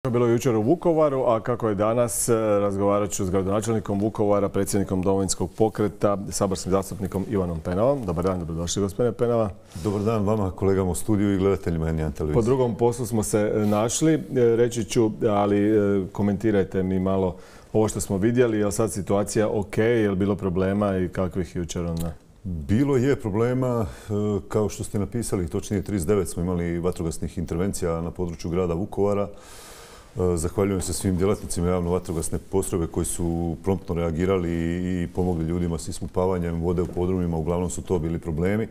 Kako je bilo jučer u Vukovaru, a kako je danas, razgovarat ću s gradonačelnikom Vukovara, predsjednikom Domovinskog pokreta, saborskim zastupnikom Ivanom Penavom. Dobar dan, dobrodošli gospodine Penava. Dobar dan vama, kolegama u studiju i gledateljima N1 televizije. Po drugom poslu smo se našli, reći ću, ali komentirajte mi malo ovo što smo vidjeli. Je li sad situacija ok, je li bilo problema i kakvih jučer onda? Bilo je problema, kao što ste napisali, točnije 39 smo imali vatrogasnih intervencija na području grada Vukovara. Zahvaljujem se svim djelatnicima javno-vatrogasne postrojbe koji su promptno reagirali i pomogli ljudima s ispumpavanjem vode u podrumima. Uglavnom su to bili problemi.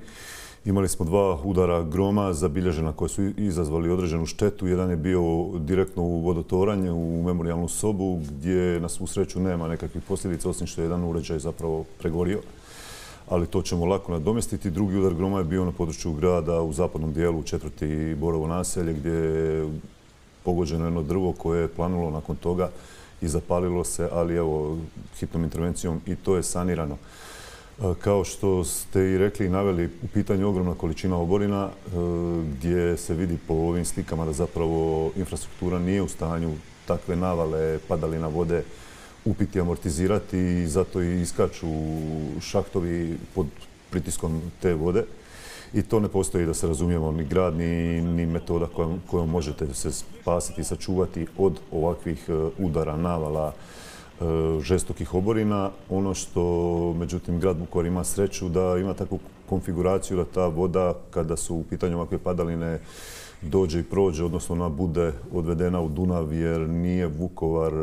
Imali smo 2 udara groma zabilježena koji su izazvali određenu štetu. Jedan je bio direktno u vodotoranju, u memorijalnu sobu, gdje na svu sreću nema nekakvih posljedica, osim što je jedan uređaj zapravo pregorio. Ali to ćemo lako nadomjestiti. Drugi udar groma je bio na području grada u zapadnom dijelu, 4. Borovo naselje, gdje je pogođeno jedno drvo koje je planulo nakon toga i zapalilo se, ali evo, hitnom intervencijom i to je sanirano. Kao što ste i rekli i naveli, u pitanju ogromna količina oborina, gdje se vidi po ovim slikama da zapravo infrastruktura nije u stanju takve navale padalina vode upiti, amortizirati i zato i iskaču šahtovi pod pritiskom te vode. I to ne postoji, da se razumijemo, ni grad, ni metoda kojom možete se spasiti i sačuvati od ovakvih udara, navala, žestokih oborina. Ono što, međutim, grad Vukovar ima sreću da ima takvu konfiguraciju da ta voda, kada su u pitanju ovakve padaline, dođe i prođe, odnosno bude odvedena u Dunav, jer nije Vukovar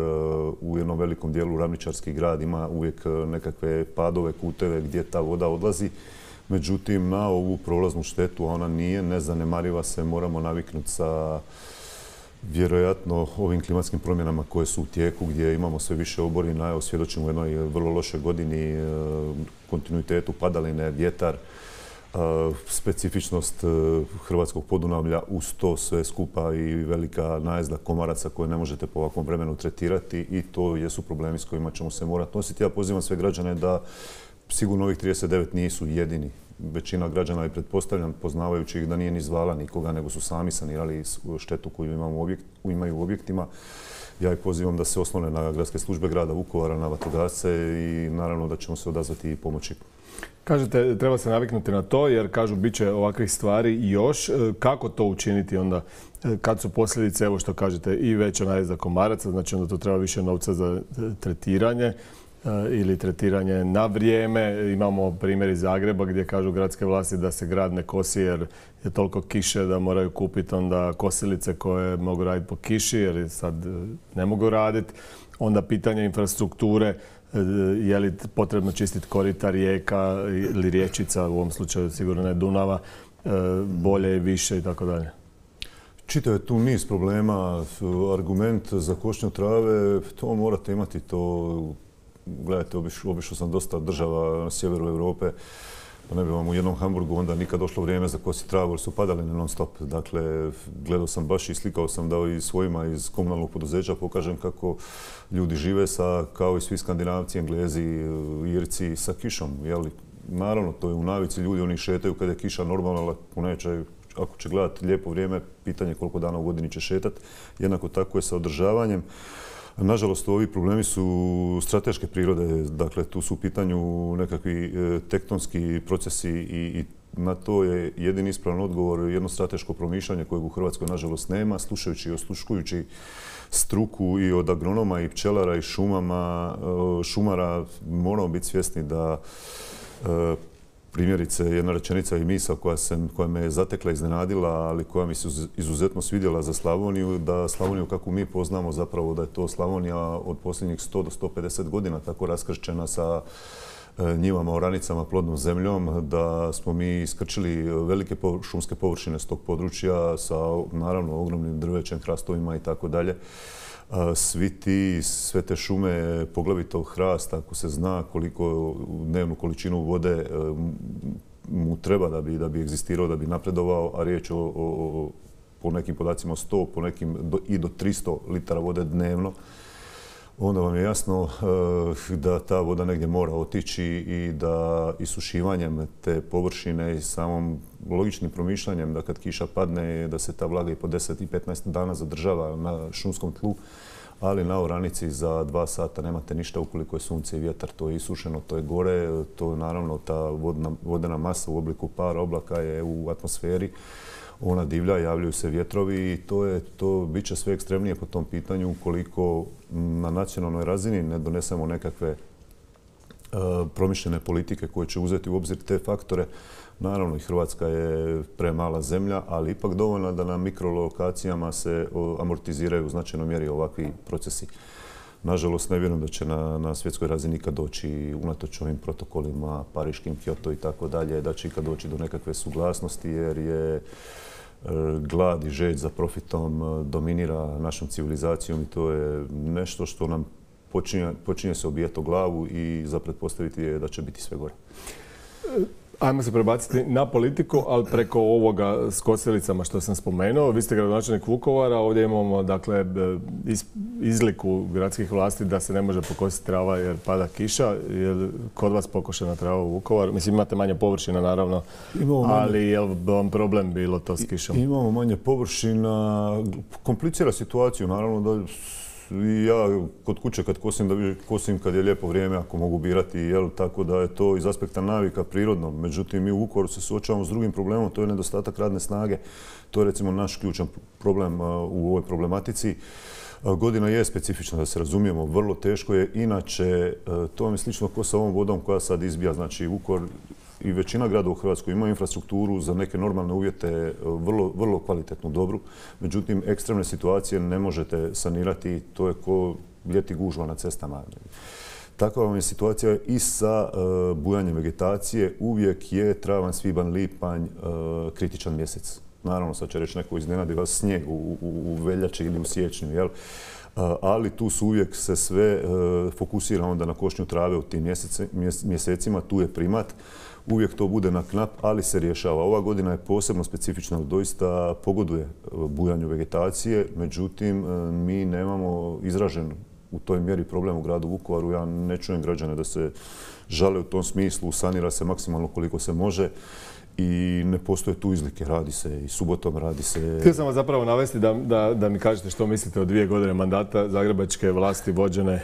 u jednom velikom dijelu ravničarski grad, ima uvijek nekakve padove, kuteve gdje ta voda odlazi. Međutim, na ovu prolaznu štetu, a ona nije nezanemariva, se moramo naviknuti sa vjerojatno ovim klimatskim promjenama koje su u tijeku, gdje imamo sve više oborina. Evo, svjedočimo u jednoj vrlo lošoj godini, kontinuitetu padaline, vjetar, specifičnost hrvatskog Podunavlja, uz to sve skupa i velika najezda komaraca koje ne možete po ovakvom vremenu tretirati i to jesu problemi s kojima ćemo se morati nositi. Ja pozivam sve građane da sigurno ovih 39 nisu jedini. Većina građana je, pretpostavljam, poznavajući ih, da nije ni zvala nikoga, nego su sami sanirali štetu koju imaju u objektima. Ja ih pozivam da se oslone na gradske službe grada Vukovara, na vatrogasce i naravno da ćemo se odazvati i pomoći. Kažete, treba se naviknuti na to, jer kažu bit će ovakvih stvari i još. Kako to učiniti onda kad su posljedice, evo što kažete, i veća najezda komaraca, znači onda to treba više novca za tretiranje ili tretiranje na vrijeme. Imamo primjer iz Zagreba gdje kažu gradske vlasti da se grad ne kosi jer je toliko kiše da moraju kupiti onda kosilice koje mogu raditi po kiši jer sad ne mogu raditi. Onda pitanje infrastrukture, je li potrebno čistiti korita rijeka ili riječica, u ovom slučaju sigurno ne Dunava, bolje i više i tako dalje. Čitav je tu niz problema. Argument za košnju trave, to morate imati. To, gledajte, obišao sam dosta država na sjeveru Europe, pa ne bi vam u jednom Hamburgu onda nikad došlo vrijeme za kositi travu jer su padaline non stop. Dakle, gledao sam baš i slikao sam da i svojima iz komunalnog poduzeća pokažem kako ljudi žive kao i svi Skandinavci, Englezi, Irci, sa kišom. Naravno, to je u navici, ljudi oni šetaju kada je kiša normalna, ako će gledati lijepo vrijeme, pitanje koliko dana u godini će šetati. Jednako tako je sa održavanjem. Nažalost, ovi problemi su strateške prirode, dakle tu su u pitanju nekakvi tektonski procesi i na to je jedini ispravan odgovor jedno strateško promišljanje kojeg u Hrvatskoj nažalost nema. Slušajući i osluškujući struku i od agronoma i pčelara i šumara moramo biti svjesni da primjerice, jedna rečenica i misao koja me je zatekla, iznenadila, ali koja mi se izuzetno svidjela za Slavoniju, da Slavoniju kako mi poznamo zapravo da je to Slavonija od posljednjih 100 do 150 godina tako raskršćena sa njivama, oranicama, plodnom zemljom, da smo mi iskrčili velike šumske površine s tog područja sa naravno ogromnim drvećem, hrastovima i tako dalje. Sve te šume, poglavito hrast, ako se zna koliko dnevnu količinu vode mu treba da bi egzistirao, da bi napredovao, a riječ po nekim podacima 100, po nekim i do 300 litara vode dnevno. onda vam je jasno da ta voda negdje mora otići i da isušivanjem te površine i samom logičnim promišljanjem da kad kiša padne da se ta vlaga i po 10 i 15 dana zadržava na šumskom tlu, ali na oranici za 2 sata nemate ništa ukoliko je sunce i vjetar. To je isušeno, to je gore, to naravno ta vodena masa u obliku para oblaka je u atmosferi. Ona divlja, javljaju se vjetrovi i to bit će sve ekstremnije po tom pitanju ukoliko na nacionalnoj razini ne donesemo nekakve promišljene politike koje će uzeti u obzir te faktore. Naravno i Hrvatska je premala zemlja, ali ipak dovoljna da na mikrolokacijama se amortiziraju u značajnoj mjeri ovakvi procesi. Nažalost, ne vjerujem da će na svjetskoj razini ikad doći, unatoč ovim protokolima, Pariškim, Kyoto i tako dalje, da će ikad doći do nekakve suglasnosti jer je glad i žeđ za profitom dominira našom civilizacijom i to je nešto što nam počinje se obijati o glavu i za pretpostaviti je da će biti sve gore. Ajmo se prebaciti na politiku, ali preko ovoga s kosilicama što sam spomenuo. Vi ste gradonačelnik Vukovara, ovdje imamo dakle, izliku gradskih vlasti da se ne može pokositi trava jer pada kiša. Je kod vas pokošena trava u Vukovaru? Mislim, imate manje površina naravno, ali je li vam problem bilo to s kišom? Imamo manje površina, komplicira situaciju naravno da i ja kod kuće kad kosim, da kosim kad je lijepo vrijeme, ako mogu birati, tako da je to iz aspekta navika prirodno. Međutim, mi u Vukovaru se suočavamo s drugim problemom, to je nedostatak radne snage. To je recimo naš ključan problem u ovoj problematici. Godina je specifična, da se razumijemo, vrlo teško je. Inače, to vam je slično kao sa ovom vodom koja sad izbija. Znači, Vukovar i većina grada u Hrvatskoj ima infrastrukturu za neke normalne uvjete vrlo kvalitetnu, dobru. Međutim, ekstremne situacije ne možete sanirati. To je ko ljeti gužva na cestama. Takva vam je situacija i sa bujanjem vegetacije. Uvijek je travanj, svibanj, lipanj kritičan mjesec. Naravno, sad će reći neko iznenadi vas snijeg u veljači ili u siječnju, jel? Ali tu su uvijek se sve fokusira onda na košnju trave u tim mjesecima. Tu je primat. Uvijek to bude na knap, ali se rješava. Ova godina je posebno specifična, doista pogoduje bujanju vegetacije. Međutim, mi nemamo izražen u toj mjeri problem u gradu Vukovaru. Ja ne čujem građane da se žale u tom smislu. Sanira se maksimalno koliko se može. I ne postoje tu izlike, radi se i subotom, radi se... Htio sam vas zapravo navesti da mi kažete što mislite o 2 godine mandata zagrebačke vlasti vođene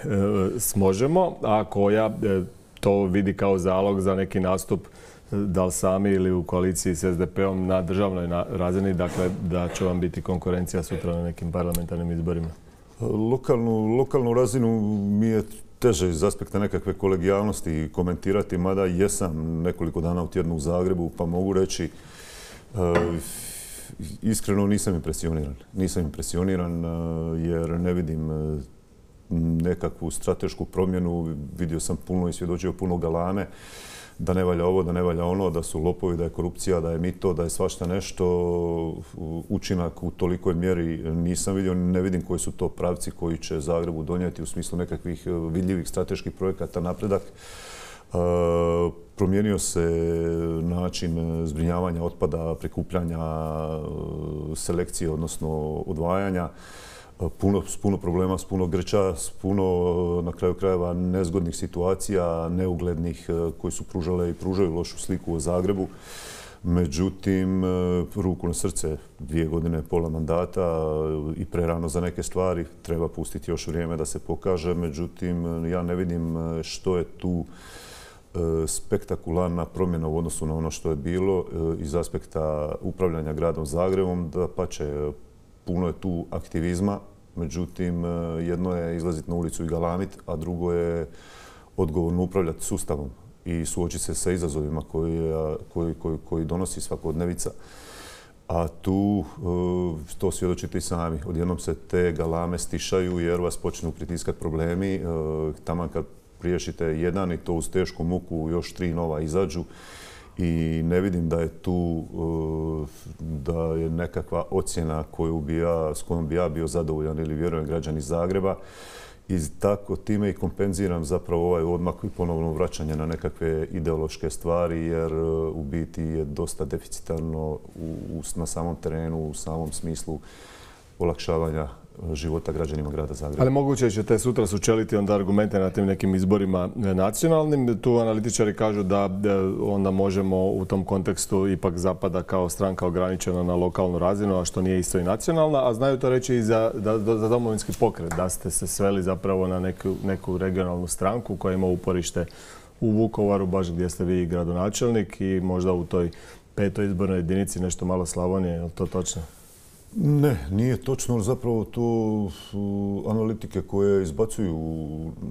s Možemo, a koja to vidi kao zalog za neki nastup, da li sami ili u koaliciji s SDP-om na državnoj razini, dakle da će vam biti konkurencija sutra na nekim parlamentarnim izborima. Lokalnu razinu mi je teže iz aspekta nekakve kolegijalnosti komentirati, mada jesam nekoliko dana u tjednu u Zagrebu, pa mogu reći iskreno nisam impresioniran. Nisam impresioniran jer ne vidim nekakvu stratešku promjenu. Vidio sam puno i svjedočio puno galame da ne valja ovo, da ne valja ono, da su lopovi, da je korupcija, da je mito, da je svašta nešto. Učinak u tolikoj mjeri nisam vidio. Ne vidim koji su to pravci koji će Zagrebu donijeti u smislu nekakvih vidljivih strateških projekata napredak. Promijenio se način zbrinjavanja otpada, prikupljanja, selekcije, odnosno odvajanja. S puno problema, s puno grča, s puno, na kraju krajeva, nezgodnih situacija, neuglednih koji su pružale i pružaju lošu sliku o Zagrebu. Međutim, ruku na srce, 2 godine, pola mandata i prerano za neke stvari. Treba pustiti još vrijeme da se pokaže. Međutim, ja ne vidim što je tu spektakularna promjena u odnosu na ono što je bilo iz aspekta upravljanja gradom Zagrebom. Dapače, puno je tu aktivizma, međutim, jedno je izlaziti na ulicu i galamit, a drugo je odgovorno upravljati sustavom i suočiti se sa izazovima koji donosi svakodnevica. A tu to svjedočite i sami. Odjednom se te galame stišaju jer vas počnu pritiskati problemi. Taman kad riješite jedan i to uz tešku muku još 3 nova izađu. I ne vidim da je tu da je nekakva ocjena s kojom bi ja bio zadovoljan ili vjerujem građani Zagreba. I tako time i kompenziram zapravo ovaj odmak i ponovno vraćanje na nekakve ideološke stvari jer u biti je dosta deficitarno na samom terenu, u samom smislu olakšavanja života građanima grada Zagreba. Ali moguće ćete sutra sučeliti onda argumente na tim nekim izborima nacionalnim. Tu analitičari kažu da onda možemo u tom kontekstu ipak zapada kao stranka ograničena na lokalnu razinu, a što nije isto i nacionalna, a znaju to reći i za Domovinski pokret, da ste se sveli zapravo na neku regionalnu stranku koja ima uporište u Vukovaru, baš gdje ste vi gradonačelnik i možda u toj 5. izbornoj jedinici nešto malo Slavonije. Je li to točno? Ne, nije točno. Zapravo to analitike koje izbacuju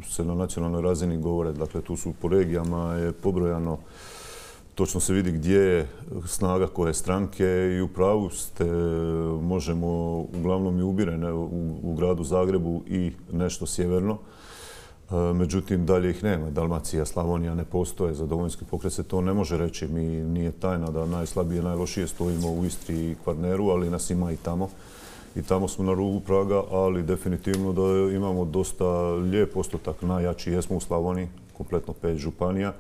se na nacionalnoj razini govore. Dakle, tu su po regijama je pobrojano, točno se vidi gdje je snaga koje stranke i u pravu ste, možemo uglavnom i ubirene u gradu Zagrebu i nešto sjeverno. Međutim, dalje ih nema. Dalmacija, Slavonija ne postoje. Za Domovinski pokret se to ne može reći. Mi nije tajna da najslabije, najlošije stojimo u Istri i Kvarneru, ali nas ima i tamo. I tamo smo na rubu praga, ali definitivno da imamo dosta lijep postotak. Najjači jesmo u Slavoniji, kompletno 5 županija,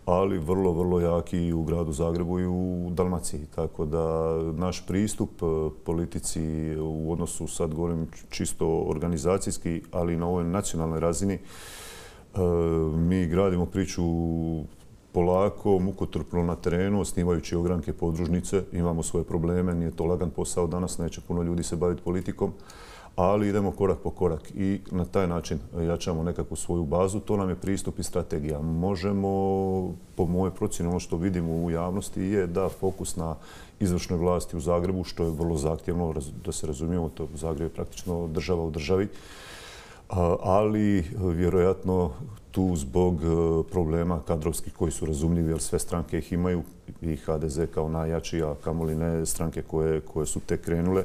ali vrlo, vrlo jaki i u gradu Zagrebu i u Dalmaciji. Tako da naš pristup politici u odnosu, sad govorim čisto organizacijski, ali na ovoj nacionalnoj razini, mi gradimo priču polako, mukotrpno na terenu, osnivajući ogranke podružnice. Imamo svoje probleme, nije to lagan posao danas, neće puno ljudi se baviti politikom, ali idemo korak po korak i na taj način jačamo nekakvu svoju bazu. To nam je pristup i strategija. Možemo, po mojoj procjeni, ono što vidimo u javnosti je da fokus na izvršnoj vlasti u Zagrebu, što je vrlo zahtjevno, da se razumijemo, to Zagreb je praktično država u državi, ali vjerojatno tu zbog problema kadrovskih koji su razumljivi, jer sve stranke ih imaju, i HDZ kao najjači, a kamoli ne stranke koje su tek krenule.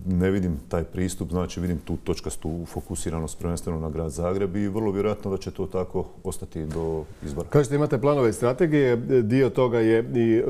Ne vidim taj pristup, znači vidim tu točkastu fokusiranost prvenstveno na grad Zagreb i vrlo vjerojatno da će to tako ostati do izbora. Kažete, imate planove i strategije, dio toga je i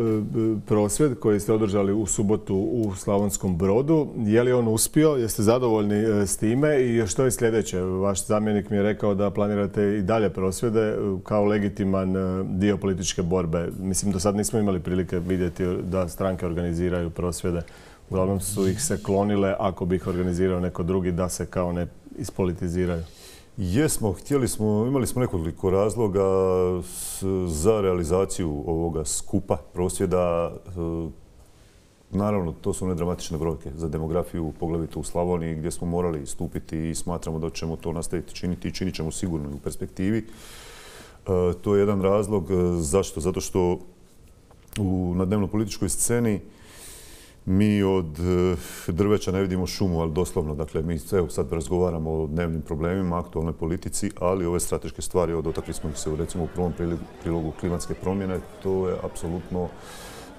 prosvjed koji ste održali u subotu u Slavonskom Brodu. Je li on uspio? Jeste zadovoljni s time i što je sljedeće? Vaš zamjenik mi je rekao da planirate i dalje prosvjede kao legitiman dio političke borbe. Mislim, do sad nismo imali prilike vidjeti da stranke organiziraju prosvjede. Uglavnom su ih se klonile, ako bi ih organizirao neko drugi, da se kao ne ispolitiziraju. Jesmo, imali smo nekoliko razloga za realizaciju ovoga skupa prosvjeda. Naravno, to su nedramatične brojke za demografiju, poglavito u Slavoniji, gdje smo morali stupiti i smatramo da ćemo to nastaviti činiti i činit ćemo sigurno i u perspektivi. To je jedan razlog. Zašto? Zato što na dnevno-političkoj sceni mi od drveća ne vidimo šumu, ali doslovno. Dakle, mi sad razgovaramo o dnevnim problemima, aktualnoj politici, ali ove strateške stvari, dotakli smo ih se recimo u prvom prilogu klimatske promjene, to je apsolutno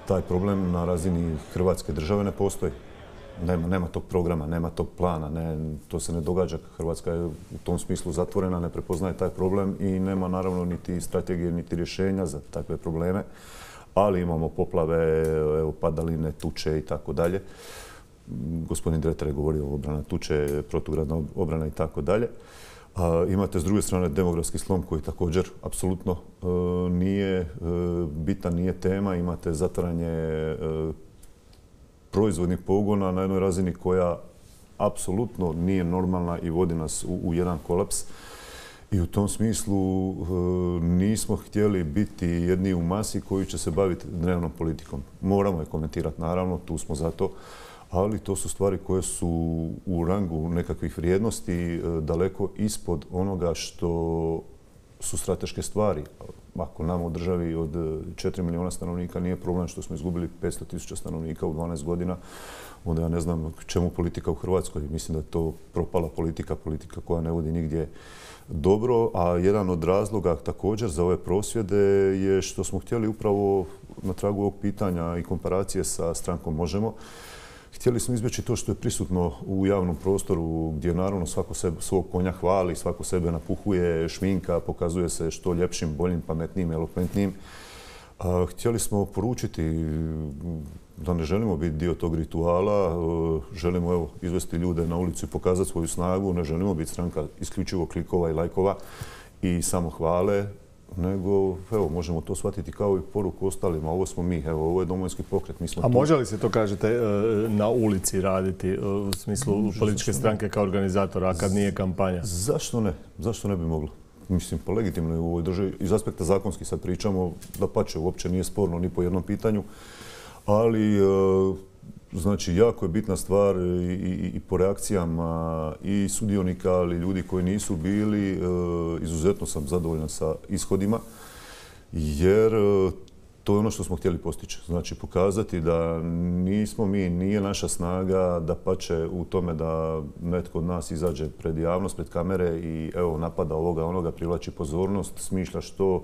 taj problem na razini Hrvatske države ne postoji. Nema tog programa, nema tog plana, to se ne događa. Hrvatska je u tom smislu zatvorena, ne prepoznaje taj problem i nema naravno niti strategije, niti rješenja za takve probleme. Ali imamo poplave, padaline, tuče i tako dalje. Gospodin Dretar je govorio o obrana tuče, protugradna obrana i tako dalje. Imate s druge strane demografski slom koji također apsolutno nije bitan, nije tema. Imate zatvaranje proizvodnih pogona na jednoj razini koja apsolutno nije normalna i vodi nas u jedan kolaps. I u tom smislu nismo htjeli biti jedni u masi koji će se baviti dnevnom politikom. Moramo je komentirati, naravno, tu smo za to, ali to su stvari koje su u rangu nekakvih vrijednosti daleko ispod onoga što su strateške stvari. Ako nam u državi od 4 milijuna stanovnika nije problem što smo izgubili 500.000 stanovnika u 12 godina, onda ja ne znam čemu politika u Hrvatskoj. Mislim da je to propala politika koja ne vodi nigdje dobro, a jedan od razloga također za ove prosvjede je što smo htjeli upravo na tragu ovog pitanja i komparacije sa strankom Možemo. Htjeli smo izbjeći to što je prisutno u javnom prostoru gdje naravno svako svog konja hvali, svako sebe napuhuje, šminka, pokazuje se što ljepšim, boljim, pametnijim, elokventnijim. Htjeli smo poručiti da ne želimo biti dio tog rituala, želimo izvesti ljude na ulicu i pokazati svoju snagu, ne želimo biti stranka isključivo klikova i lajkova i samo hvale. nego evo, možemo to shvatiti kao i poruku ostalima. Ovo smo mi, evo, ovo je Domovinski pokret, mi smo A tu. može li se to, kažete, na ulici raditi u smislu političke stranke kao organizatora, a kad nije kampanja? Zašto ne? Zašto ne bi moglo? Mislim, pa legitimno je u ovoj državi. Iz aspekta zakonski sad pričamo, dapače, uopće nije sporno ni po jednom pitanju, ali znači, jako je bitna stvar i po reakcijama i sudionika, ali ljudi koji nisu bili, izuzetno sam zadovoljan sa ishodima, jer to je ono što smo htjeli postići. Znači, pokazati da nismo mi, nije naša snaga dapače u tome da netko od nas izađe pred javnost, pred kamere i evo, napada ovoga, onoga, privlači pozornost, smišlja što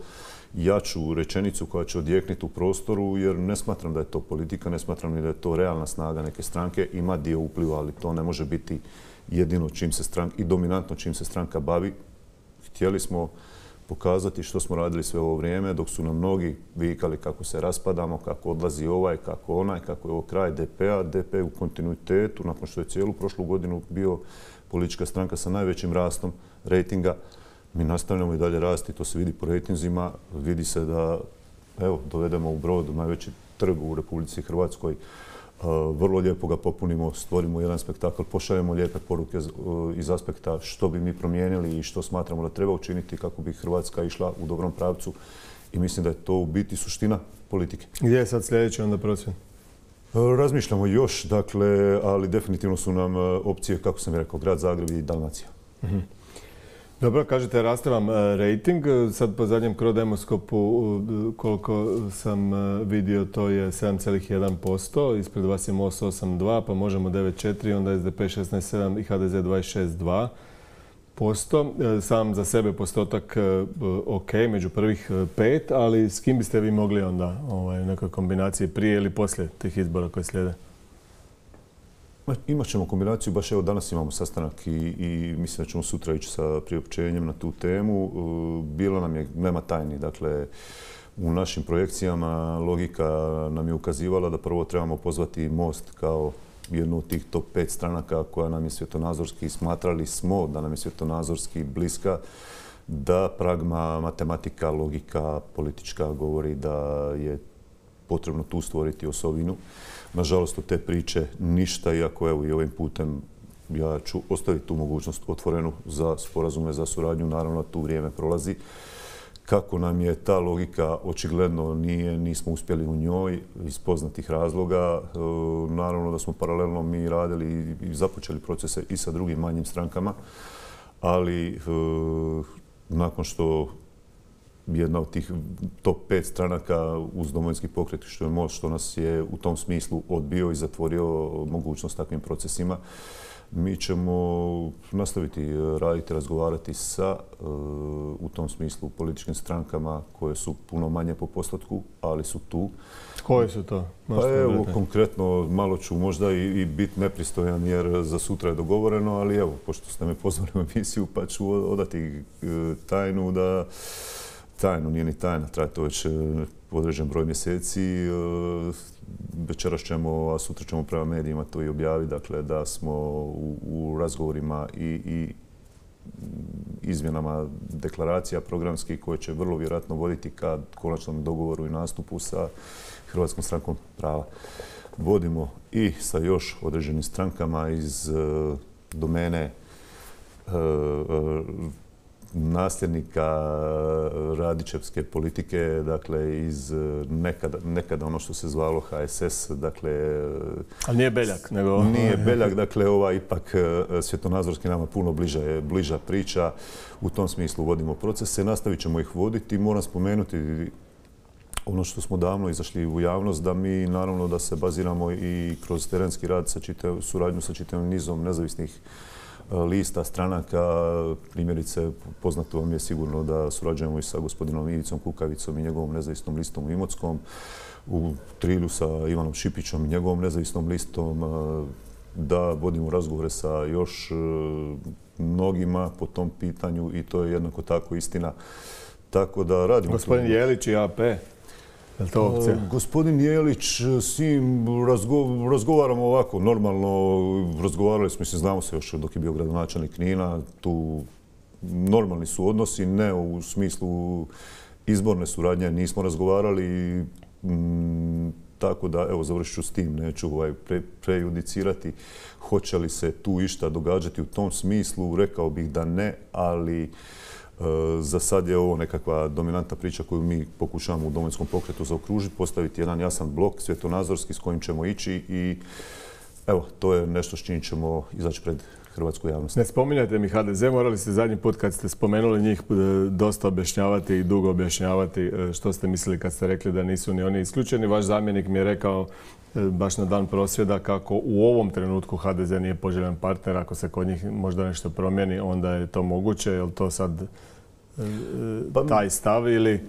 jaču rečenicu koja će odjekniti u prostoru, jer ne smatram da je to politika, ne smatram ni da je to realna snaga neke stranke. Ima dio upliva, ali to ne može biti jedino čim se stranka i dominantno čim se stranka bavi. Htjeli smo pokazati što smo radili sve ovo vrijeme, dok su nam mnogi vikali kako se raspadamo, kako odlazi ovaj, kako onaj, kako je ovo kraj DP-a. DP u kontinuitetu, nakon što je cijelu prošlu godinu bio politička stranka sa najvećim rastom rejtinga. Mi nastavljamo i dalje rasti, to se vidi po rejtinzima, vidi se da evo, dovedemo u Brod, najveći trg u Republici Hrvatskoj, vrlo lijepo ga popunimo, stvorimo jedan spektakl, pošaljemo lijepe poruke iz aspekta što bi mi promijenili i što smatramo da treba učiniti kako bi Hrvatska išla u dobrom pravcu i mislim da je to u biti suština politike. Gdje je sad sljedeći onda prosvjed? Razmišljamo još, dakle, ali definitivno su nam opcije, kako sam rekao, Grad Zagreb i Dalmacija. Dobro, kažete, raste vam rejting. Sad po zadnjem Crodemoskopu, koliko sam vidio, to je 7,1%. Ispred vas je Most 8,2%, pa Možemo 9,4%, onda SDP 16,7% i HDZ 26,2%. Sam za sebe postotak ok, među prvih 5, ali s kim biste vi mogli onda u nekoj kombinaciji prije ili poslije tih izbora koje slijede? Imat ćemo kombinaciju, baš evo danas imamo sastanak i mislim da ćemo sutra ići sa priopćenjem na tu temu. Bilo nam je, nema tajni, dakle, u našim projekcijama logika nam je ukazivala da prvo trebamo pozvati Most kao jednu od tih top 5 stranaka koja nam je svjetonazorski, smatrali smo da nam je svjetonazorski bliska, da pragma, matematika, logika politička govori da je potrebno tu stvoriti osovinu. Nažalost, od te priče ništa, iako evo i ovim putem ja ću ostaviti tu mogućnost otvorenu za sporazume, za suradnju. Naravno, tu vrijeme prolazi. Kako nam je ta logika, očigledno nismo uspjeli u njoj iz poznatih razloga. Naravno da smo paralelno mi radili i započeli procese i sa drugim manjim strankama, ali nakon što jedna od tih top 5 stranaka uz Domovinski pokret, što je Most, što nas je u tom smislu odbio i zatvorio mogućnost takvim procesima. Mi ćemo nastaviti raditi, razgovarati sa u tom smislu političkim strankama koje su puno manje po postotku, ali su tu. Koje su to? Pa evo, konkretno, malo ću možda i biti nepristojan jer za sutra je dogovoreno, ali evo, pošto ste me pozvali u emisiju, pa ću odati tajnu da tajnu, nije ni tajna, traje to već određen broj mjeseci. Večeras ćemo, a sutra ćemo prema medijima to i objaviti, dakle da smo u razgovorima i izmjenama deklaracija programskih koje će vrlo vjerojatno voditi ka konačnom dogovoru i nastupu sa Hrvatskom strankom prava. Vodimo i sa još određenim strankama iz domene nasljednika Radićevske politike, dakle iz nekada ono što se zvalo HSS, dakle... Ali nije Beljak, nego... Nije Beljak, dakle ova ipak svjetonazorski nama puno bliža priča. U tom smislu vodimo procese, nastavit ćemo ih voditi. Moram spomenuti ono što smo davno izašli u javnost, da mi naravno da se baziramo i kroz terenski rad, suradnju sa čitavim nizom nezavisnih lista, stranaka. Primjerice, poznato vam je sigurno da surađujemo i sa gospodinom Ivicom Kukavicom i njegovom nezavisnom listom u Imotskom, u Trilju sa Ivanom Šipićom i njegovom nezavisnom listom, da vodimo razgovore sa još mnogima po tom pitanju i to je jednako tako istina. Tako da radimo... Gospodin Jelić i AP. Je li to opcija? Gospodin Jelić, s njim razgovaramo ovako, normalno razgovarali smo, mislim, znamo se još dok je bio gradonačelnik Knina, tu normalni su odnosi, ne u smislu izborne suradnje nismo razgovarali i tako da, evo, završit ću s tim, neću prejudicirati hoće li se tu išta događati u tom smislu. Rekao bih da ne, ali za sad je ovo nekakva dominantna priča koju mi pokušavamo u Domovinskom pokretu zaokružiti, postaviti jedan jasan blok svjetonazorski s kojim ćemo ići i evo, to je nešto s čim ćemo izaći pred hrvatsku javnost. Ne spominjate mi HDZ, morali ste zadnji put kad ste spomenuli njih dosta objašnjavati i dugo objašnjavati što ste mislili kad ste rekli da nisu ni oni isključeni. Vaš zamjenik mi je rekao baš na dan prosvjeda kako u ovom trenutku HDZ nije poželjan partner. Ako se kod njih možda nešto promijeni, onda je to moguće. Je li to sad taj stav ili...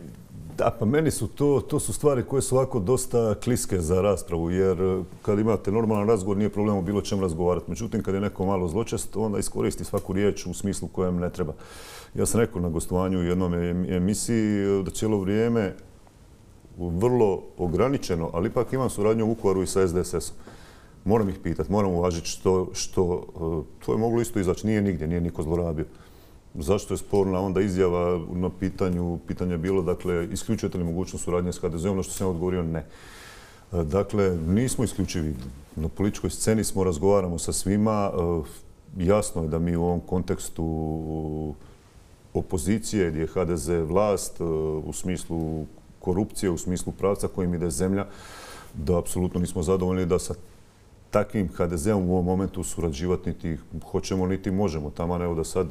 Da, pa meni su to su stvari koje su ovako dosta kliske za raspravu, jer kad imate normalan razgovor nije problem o bilo čem razgovarati. Međutim, kad je neko malo zločest, onda iskoristi svaku riječ u smislu kojem ne treba. Ja sam rekao na gostovanju u jednom emisiji da cijelo vrijeme vrlo ograničeno, ali ipak imam suradnju u Vukovaru i sa SDSS-om. Moram ih pitati, moram uvažiti što to je moglo isto izaći, nije nigdje, nije niko zlorabio. Zašto je sporna onda izjava na pitanje je bilo, dakle, isključujete li mogućnost suradnje s HDZ-om, na što sam odgovorio ne. Dakle, nismo isključivi. Na političkoj sceni smo, razgovaramo sa svima. Jasno je da mi u ovom kontekstu opozicije, gdje je HDZ vlast, u smislu korupcije, u smislu pravca kojim ide zemlja, da apsolutno nismo zadovoljni da sa takvim HDZ-om u ovom momentu surađivati niti hoćemo, niti možemo. Taman evo da sad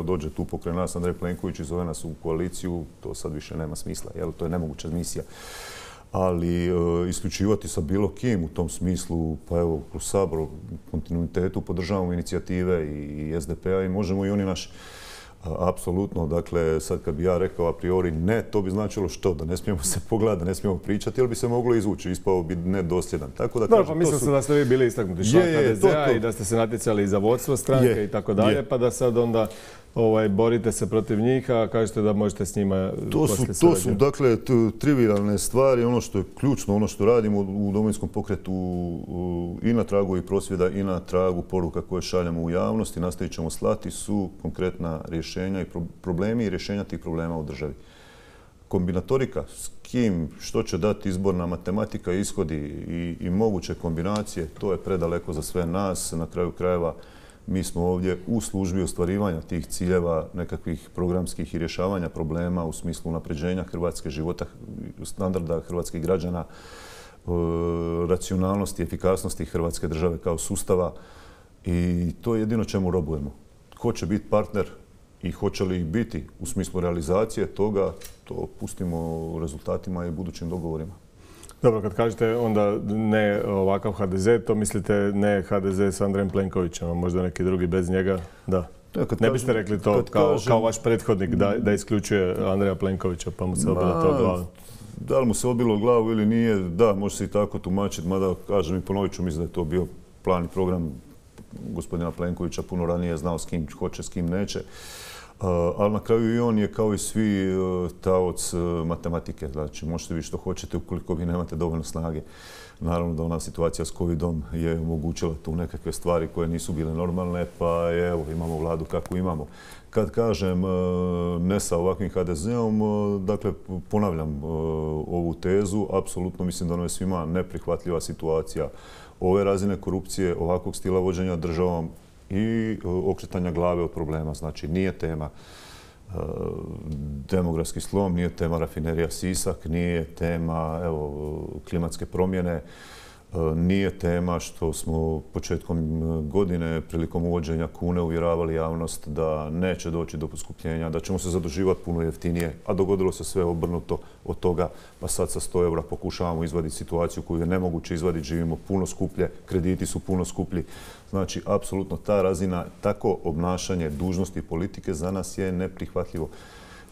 dođe tu pokraj nas Andrej Plenković i zove nas u koaliciju, to sad više nema smisla. To je nemoguća misija. Ali isključivati sa bilo kim u tom smislu, pa evo, u Saboru, u kontinuitetu podržavamo inicijative i SDP-a i možemo i oni naši. Apsolutno, dakle, sad kad bi ja rekao a priori ne, to bi značilo što? Da ne smijemo se pogledati, da ne smijemo pričati, ili bi se moglo izvući, ispao bi nedosljedan. Tako da, pa mislim se da ste vi bili istaknuti član HDZ-a i da ste se natjecali za vodstvo stranke i tako dalje, pa da sad onda borite se protiv njih, a kažete da možete s njima poslije surađivati. To su, dakle, trivialne stvari, ono što je ključno, ono što radimo u Domovinskom pokretu i na tragu i prosvjeda i na tragu poruka koje šaljemo u javnost i nastavit ćemo slati su konkretna rješenja i problemi i rješenja tih problema u državi. Kombinatorika, s kim, što će dati izborna matematika, ishodi i moguće kombinacije, to je predaleko za sve nas. Na kraju krajeva mi smo ovdje u službi ostvarivanja tih ciljeva, nekakvih programskih i rješavanja problema u smislu unapređenja hrvatske života, standarda hrvatskih građana, racionalnosti, efikasnosti hrvatske države kao sustava i to je jedino čemu robujemo. Ko će biti partner i hoće li ih biti u smislu realizacije toga, to pustimo u rezultatima i budućim dogovorima. Dobro, kad kažete onda ne ovakav HDZ, to mislite ne HDZ s Andrejem Plenkovićem, a možda neki drugi bez njega? Da. Ne biste rekli to kao vaš prethodnik da isključuje Andreja Plenkovića pa mu se obilo to glavu? Da li mu se obilo glavu ili nije, da, može se i tako tumačiti, mada kažem i ponovit ću, mislim da je to bio plan i program gospodina Plenkovića, puno ranije znao s kim hoće, s kim neće. Ali na kraju i on je kao i svi taoc matematike. Znači, možete vi što hoćete ukoliko vi nemate dovoljno snage. Naravno da ona situacija s covidom je omogućila tu nekakve stvari koje nisu bile normalne, pa evo, imamo vladu kakvu imamo. Kad kažem ne sa ovakvim HDZ-om, dakle, ponavljam ovu tezu, apsolutno mislim da ono je svima neprihvatljiva situacija ove razine korupcije, ovakvog stila vođenja državom i okretanja glave od problema. Znači, nije tema demografski slom, nije tema rafinerija Sisak, nije tema klimatske promjene, nije tema što smo početkom godine prilikom uvođenja kune uvjeravali javnost da neće doći do poskupljenja, da ćemo se zaduživati puno jeftinije, a dogodilo se sve obrnuto od toga, pa sad sa 100 eura pokušavamo izvaditi situaciju koju je nemoguće izvaditi, živimo puno skuplje, krediti su puno skuplji. Znači, apsolutno ta razina, tako obnašanje dužnosti politike za nas je neprihvatljivo.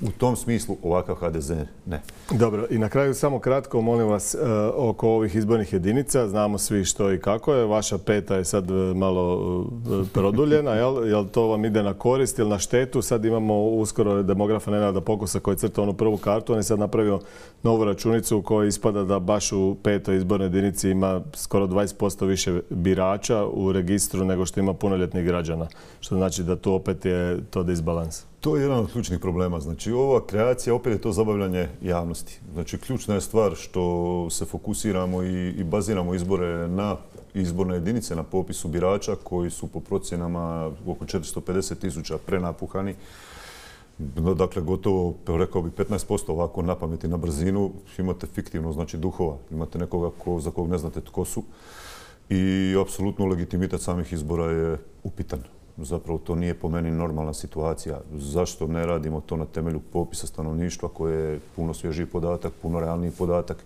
U tom smislu ovakav HDZ ne. Dobro, i na kraju samo kratko, molim vas, oko ovih izbornih jedinica. Znamo svi što i kako je. Vaša peta je sad malo produljena, jel to vam ide na korist ili na štetu? Sad imamo uskoro demografa Nenada Pokusa koji crta onu prvu kartu. On je sad napravio novu računicu u kojoj ispada da baš u petoj izbornoj jedinici ima skoro 20% više birača u registru nego što ima punoljetnih građana. Što znači da tu opet je to disbalans. To je jedan od ključnih problema. Znači, ova kreacija, opet je to zabavljanje javnosti. Znači, ključna je stvar što se fokusiramo i baziramo izbore na izborne jedinice na popisu birača koji su po procjenama oko 450.000 prenapuhani. Dakle, gotovo, rekao bi, 15% ovako na pamet i na brzinu. Imate fiktivno, znači duhova. Imate nekoga za kog ne znate tko su. I apsolutno legitimitet samih izbora je upitan. Zapravo to nije po meni normalna situacija. Zašto ne radimo to na temelju popisa stanovništva koje je puno svježiji podatak, puno realniji podatak?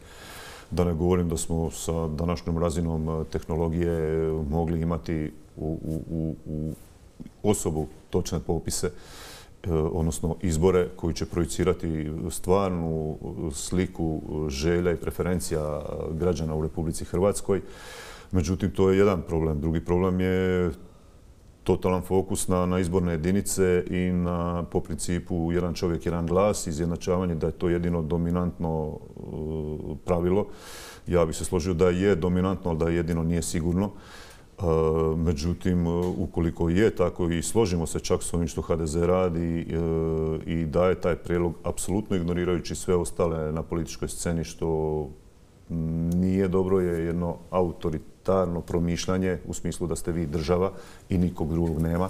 Da ne govorim da smo sa današnjom razinom tehnologije mogli imati u osobu točne popise, odnosno izbore koji će projicirati stvarnu sliku želja i preferencija građana u Republici Hrvatskoj. Međutim, to je jedan problem. Drugi problem je totalan fokus na izborne jedinice i po principu jedan čovjek, jedan glas, izjednačavanje da je to jedino dominantno pravilo. Ja bih se složio da je dominantno, ali da jedino nije sigurno. Međutim, ukoliko je tako i složimo se čak s ovim što HDZ radi i daje taj prijedlog, apsolutno ignorirajući sve ostale na političkoj sceni, što nije dobro, je jedno autoritarno promišljanje u smislu da ste vi država i nikog drugog nema.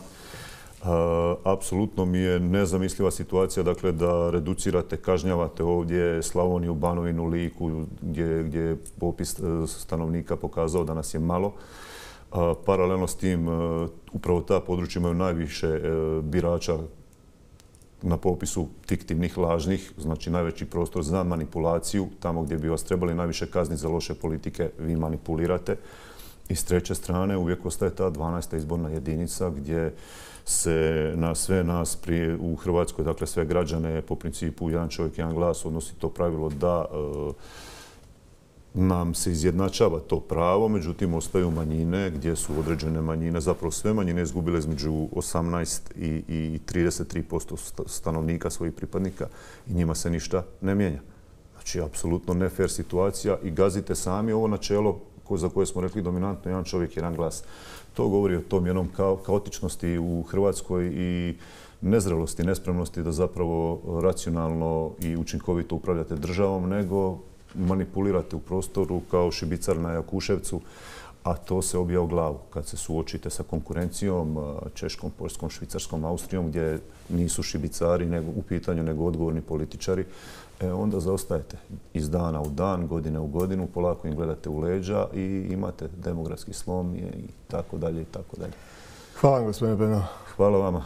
Apsolutno mi je nezamisliva situacija, dakle, da reducirate, kažnjavate ovdje Slavoniju, Banovinu, Liku, gdje je popis stanovnika pokazao da nas je malo. Paralelno s tim, upravo ta područja imaju najviše birača na popisu fiktivnih, lažnih, znači najveći prostor za manipulaciju. Tamo gdje bi vas trebali najviše kazniti za loše politike, vi manipulirate. I s treće strane uvijek ostaje ta 12. izborna jedinica gdje se na sve nas u Hrvatskoj, dakle sve građane, po principu jedan čovjek, jedan glas, odnosi to pravilo da nam se izjednačava to pravo, međutim ostaju manjine gdje su određene manjine, zapravo sve manjine izgubile između 18 i 33% stanovnika svojih pripadnika i njima se ništa ne mijenja. Znači, apsolutno ne fair situacija i gazite sami ovo načelo za koje smo rekli dominantno, jedan čovjek, jedan glas. To govori o tom jednom kaotičnosti u Hrvatskoj i nezrelosti, nespremnosti da zapravo racionalno i učinkovito upravljate državom, nego manipulirate u prostoru kao šibicar na Jakuševcu, a to se obija u glavu kad se suočite sa konkurencijom Češkom, Poljskom, Švicarskom, Austrijom, gdje nisu šibicari u pitanju nego odgovorni političari. Onda zaostajete iz dana u dan, godine u godinu, polako im gledate u leđa i imate demografski slom i tako dalje i tako dalje. Hvala vam, gospodine Penava. Hvala vama.